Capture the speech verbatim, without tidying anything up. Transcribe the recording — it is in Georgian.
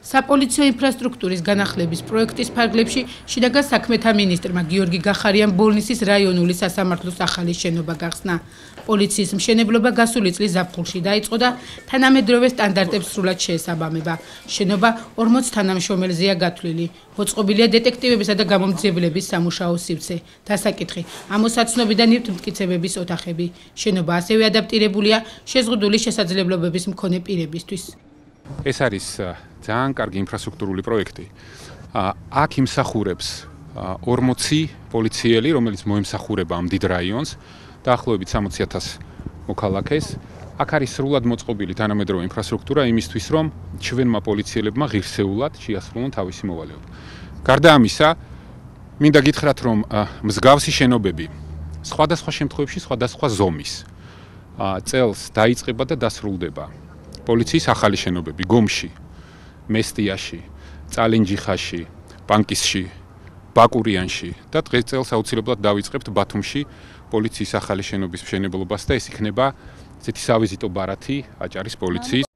საპოლიციო ინფრასტრუქტურის განახლების პროექტის ფარგლებში შინაგან საქმეთა მინისტრმა გიორგი გახარიამ ბოლნისის რაიონული სასამართლოს ახალი შენობა გახსნა. პოლიციის მშენებლობა გასული წლის ზაფხულში დაიწყო და თანამედროვე სტანდარტებს სრულად შეესაბამება. შენობა ორმოც თანამშრომელზეა გათვლილი. მოწყობილია დეტექტივებისა და გამომძიებლების სამუშაო სივრცე. დასაკითხი: ამოსაცნობი და ნივთმტკიცებების ოთახები. შენობა ასევე ადაპტირებულია შეზღუდული შესაძლებლობების მქონე პირებისთვის. ეს არის ძალიან კარგი ინფრასტრუქტურული პროექტი. აქ იმსახურებს ორმოცი პოლიციელი, რომელიც მოემსახურება ამ დიდ რაიონს, დაახლოებით სამოცი ათას მოქალაქეს. აქ არის სრულად მოწყობილი თანამედროვე ინფრასტრუქტურა იმისთვის, რომ ჩვენმა პოლიციელებმა ღირსეულად შეასრულონ თავისი მოვალეობა. გარდა ამისა, მინდა გითხრათ, რომ მსგავსი შენობები სხვადასხვა შემთხვევებში სხვადასხვა ზომის წელს დაიწყება და დასრულდება. პოლიციის ახალი შენობები გომში, მესტიაში, წალენჯიხაში, პანკისში, ბაკურიანში და დღეს წელს აუცილებლად დავიწყებთ ბათუმში პოლიციის ახალი შენობის მშენებლობას და ეს იქნება ესეთი სავიზიტო ბარათი აჭარის პოლიციის